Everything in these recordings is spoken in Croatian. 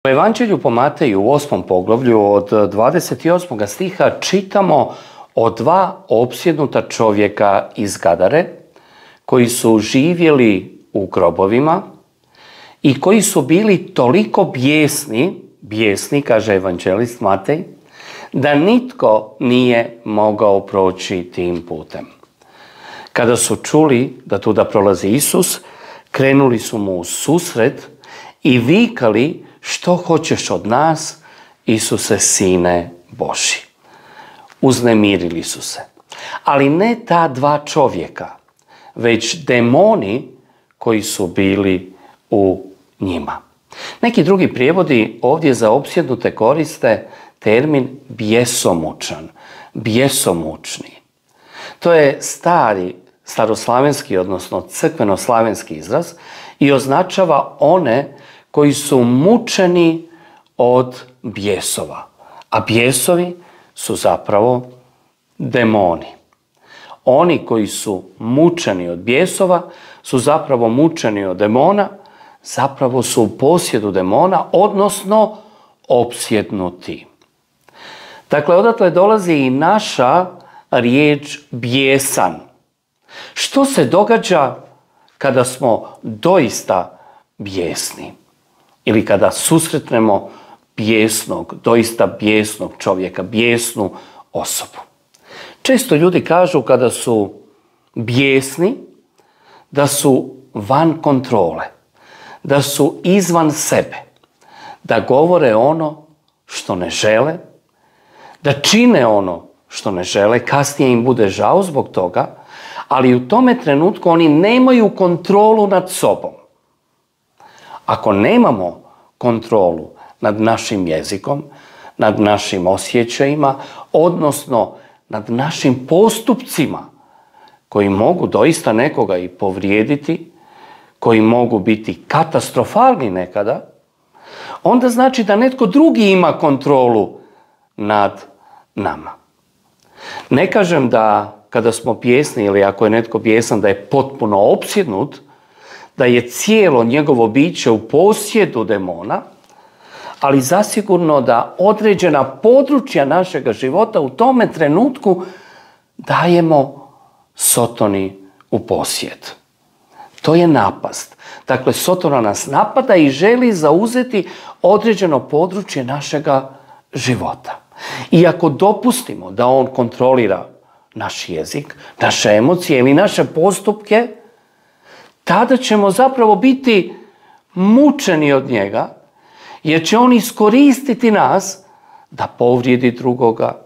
U Evanđelju po Mateju u 8. poglavlju od 28. stiha čitamo o dva opsjednuta čovjeka iz Gadare koji su živjeli u grobovima i koji su bili toliko bijesni, kaže evanđelist Matej, da nitko nije mogao proći tim putem. Kada su čuli da tuda prolazi Isus, krenuli su mu u susret i vikali: "Što hoćeš od nas, Isuse, Sine Božji?" Uznemirili su se. Ali ne ta dva čovjeka, već demoni koji su bili u njima. Neki drugi prijevodi ovdje za opsjednute koriste termin bjesomučan, bjesomučni. To je staroslavenski, odnosno crkvenoslavenski izraz i označava one koji su mučeni od bijesova. A bijesovi su zapravo demoni. Oni koji su mučeni od bijesova su zapravo mučeni od demona, zapravo su u posjedu demona, odnosno opsjednuti. Dakle, odatle dolazi i naša riječ bijesan. Što se događa kada smo doista bijesni? Ili kada susretnemo doista bijesnog čovjeka, bijesnu osobu. Često ljudi kažu kada su bijesni da su van kontrole, da su izvan sebe, da govore ono što ne žele, da čine ono što ne žele, kasnije im bude žao zbog toga, ali u tome trenutku oni nemaju kontrolu nad sobom. Ako nemamo kontrolu nad našim jezikom, nad našim osjećajima, odnosno nad našim postupcima koji mogu doista nekoga i povrijediti, koji mogu biti katastrofalni nekada, onda znači da netko drugi ima kontrolu nad nama. Ne kažem da kada smo bijesni ili ako je netko bijesan da je potpuno opsjednut, da je cijelo njegovo biće u posjedu demona, ali zasigurno da određena područja našega života u tome trenutku dajemo Sotoni u posjed. To je napast. Dakle, Sotona nas napada i želi zauzeti određeno područje našega života. I ako dopustimo da on kontrolira naš jezik, naše emocije ili naše postupke, tada ćemo zapravo biti mučeni od njega, jer će on iskoristiti nas da povrijedi drugoga,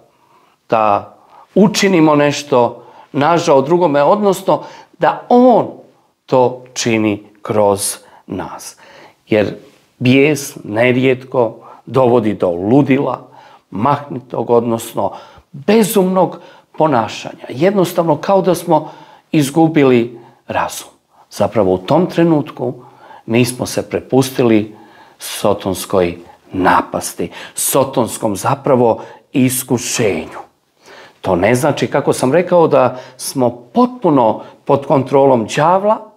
da učinimo nešto nažao drugome, odnosno da on to čini kroz nas. Jer bijes nerijetko dovodi do ludila, mahnitog, odnosno bezumnog ponašanja. Jednostavno kao da smo izgubili razum. Zapravo u tom trenutku mi smo se prepustili sotonskoj napasti, sotonskom zapravo iskušenju. To ne znači, kako sam rekao, da smo potpuno pod kontrolom đavla,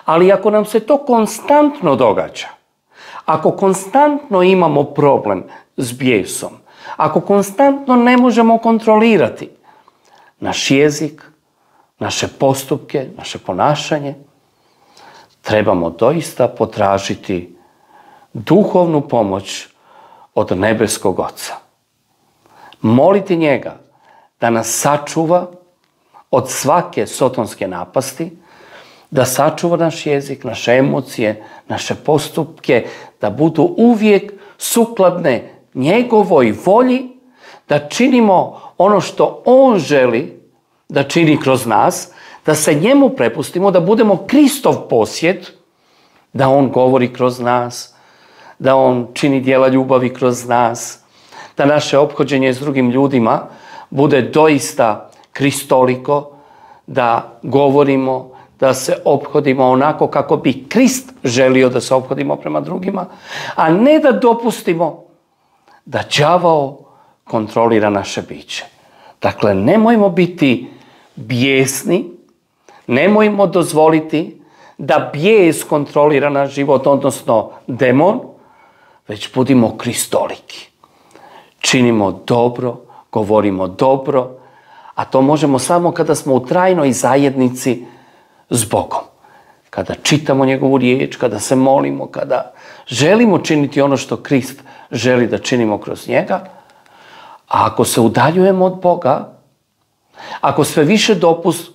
ali ako nam se to konstantno događa, ako konstantno imamo problem s bijesom, ako konstantno ne možemo kontrolirati naš jezik, naše postupke, naše ponašanje, trebamo doista potražiti duhovnu pomoć od nebeskog Oca. Moliti njega da nas sačuva od svake sotonske napasti, da sačuva naš jezik, naše emocije, naše postupke, da budu uvijek sukladne njegovoj volji, da činimo ono što on želi da čini kroz nas, da se njemu prepustimo, da budemo Kristov posjed, da on govori kroz nas, da on čini djela ljubavi kroz nas, da naše ophođenje s drugim ljudima bude doista kristoliko, da govorimo, da se ophodimo onako kako bi Krist želio da se ophodimo prema drugima, a ne da dopustimo da đavao kontrolira naše biće. Dakle, nemojmo biti bijesni, nemojmo dozvoliti da bijes kontrolira naš život, odnosno demon, već budimo kristoliki. Činimo dobro, govorimo dobro, a to možemo samo kada smo u trajnoj zajednici s Bogom. Kada čitamo njegovu riječ, kada se molimo, kada želimo činiti ono što Krist želi da činimo kroz njega, a ako se udaljujemo od Boga, ako sve više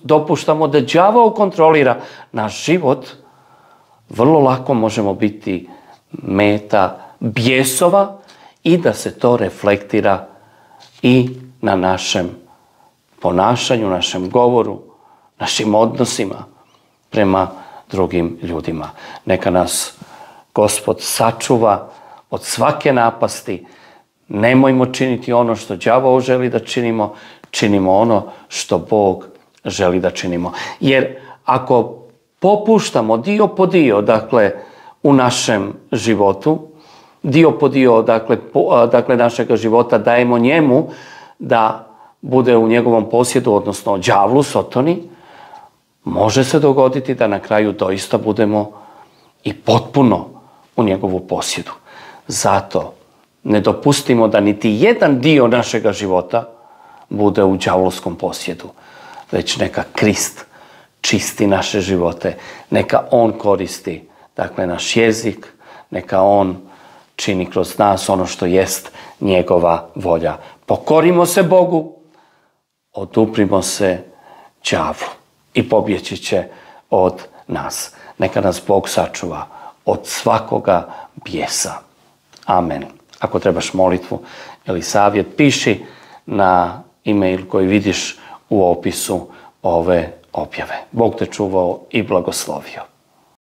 dopuštamo da đavao kontrolira naš život, vrlo lako možemo biti meta bijesova i da se to reflektira i na našem ponašanju, našem govoru, našim odnosima prema drugim ljudima. Neka nas Gospod sačuva od svake napasti. Nemojmo činiti ono što đavao želi da činimo, činimo ono što Bog želi da činimo. Jer ako popuštamo dio po dio, dakle, u našem životu, dio po dio, dakle, našega života dajemo njemu da bude u njegovom posjedu, odnosno đavlu, sotoni, može se dogoditi da na kraju doista budemo i potpuno u njegovu posjedu. Zato ne dopustimo da niti jedan dio našega života bude u đavlovskom posjedu, već neka Krist čisti naše živote, neka on koristi, dakle, naš jezik, neka on čini kroz nas ono što jest njegova volja. Pokorimo se Bogu, oduprimo se đavlu i pobjeći će od nas. Neka nas Bog sačuva od svakoga bijesa. Amen. Ako trebaš molitvu ili savjet, piši na e-mail koji vidiš u opisu ove objave. Bog te čuvao i blagoslovio.